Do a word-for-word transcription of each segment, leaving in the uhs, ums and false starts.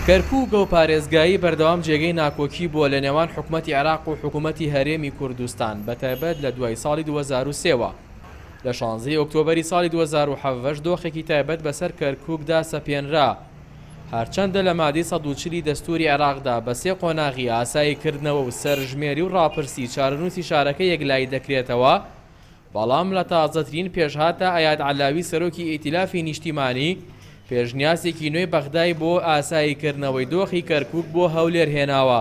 کەرکووک و پارێزگایی بەردەوام جێگەی ناکۆکی بووە لە نێوان حکوومەتی عێراق و حکوومەتی هەرێمی کوردستان، بەتایبەت لە دوای ساڵی دوو هەزار و سێوە. لە شانزەی ئۆکتۆبەری ساڵی دوو هەزار و حەڤدە دۆخێکی تایبەت بەسەر کەرکووکدا سەپێنرا. هەرچەندە لە مادەی سەد و چلی دەستوری عێراقدا بە سێ قۆناغی ئاساییکردنەوە و سەرژمێری و ڕاپرسی چارەنووسی شارەکە یەکلایی دەکرێتەوە، بەڵام لە تازەترین پێشهاتە ئەیاد عەلاوی سەرۆکی ئیتیلافی نیشتیمانی پێشنیازێکی نوێی بەغدای بۆ ئاساییکردنەوەی دۆخی کەرکووک بۆ هەولێر هێناوە.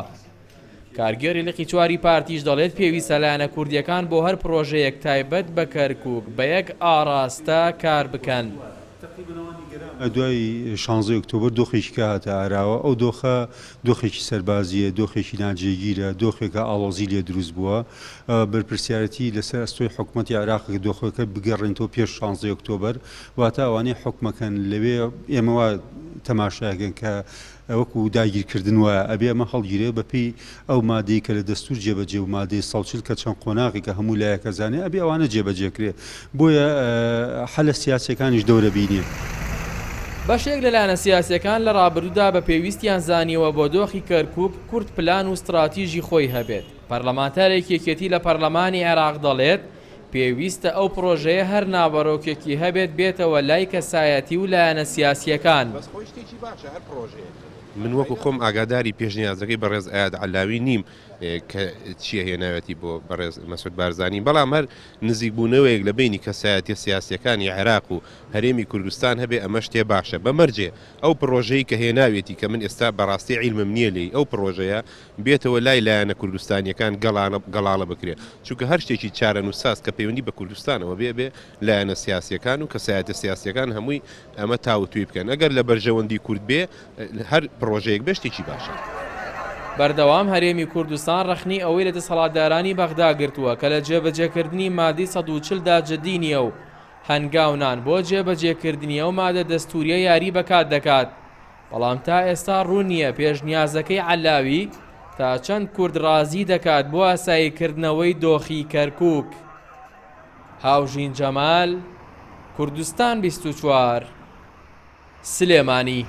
کارگێڕی لقی چواری پارتیش دەڵێت پێویستە لایەنە کوردیەکان بۆ هەر پرۆژەیەک تایبەت بە کەرکووک بە یەک ئاراستە کار بکەن. دوای شانزەی ئۆکتۆبەر دۆخێکی کە هاتە ئاراوە، ئەو دۆخە دۆخێکی سەربازیە، دۆخێکی ناجێگیرە، دۆخێکە ئاڵۆزی لێ دروست بووە. بەرپرسیارەتی لەسەر ئەستۆی حکوومەتی عێراق دۆخەکە بگەڕێنەوە پێش شانزەی ئۆکتۆبەر، واتە ئەوانەی حکومەکەن لەوێ ئێمە وا تەماشاکەن کە وەکو داگیرکردن وایە، ئەبێ ئەمە هەڵگیرێ بەپێی ئەو مادەی کە لە دەستور جێبەجێ و مادەی سەد و چل کە چەند قۆناغی کە هەموو لایەکە زانێ ئەبێ ئەوانە جێبەجێکرێ. بۆیە حەلە سیاسیەکانیش دەورە بینێ. بەشێک لە لایەنە سیاسیەکان لە ڕابردوودا بە پێویستیان زانیەوە بۆ دۆخی کەرکووک کورد پلان و استراتیژی خۆی هەبێت. پەرلەمانتارێکی یەکێتی لە پەرلەمانی عێراق دەڵێت پێویستە ئەو پرۆژەیە هەر ناوەڕۆکێکی هەبێت بێتەوە لای کەسایەتی و لایەنە سیاسیەکان. من وەکو خۆم ئاگاداری پێشنیازەکەی بەڕێز ئەیاد عەلاوی نیم کە چییە هێناوێتی بۆ بەڕێز مەسعود بارزانی، بەڵام هەر نزیکبوونەوەیەک لە بینی کەسایەتیە سیاسیەکانی عێراق و هەرێمی کوردستان هەبێ ئەمە شتێ باشە. بەمەرجێ ئەو پرۆژەی کە هێناوێتی کە من ئێستا بەڕاستی عیلمم نییە لێی، ئەو پرۆژەیە بێتەوە لای لایەنە کوردستانیەکان گەڵاڵە بکرێت، چونکە هەر شتێکی چارەنووساز کە پەیوەندی بە کوردستانەوە بێ بێ لایەنە سیاسیەکان و کەسایەتە سیاسیەکان هەمووی ئەمە تاوتوێ بکەن. ئەگەر لە بەرژەوەندی کورد بێ هەر پرۆژەیەک بێ شتێکی باشە. بەردەوام هەرێمی کوردستان ڕەخنەی ئەوەی لە دەسەڵاتدارانی بەغدا گرتووە کە لە جێبەجێکردنی مادەی سەد و چل دا جدی نییە و هەنگاونان بۆ جێبەجێکردنی ئەو مادە دەستوریە یاری بەکات دەکات، بەڵام تا ئێستا ڕوون نییە پێشنیازەکەی عەلاوی تا چەند کورد ڕازی دەکات بۆ ئاساییکردنەوەی دۆخی کەرکووک. هاوژین جەمال، کوردستان بیست و چوار، سلێمانی.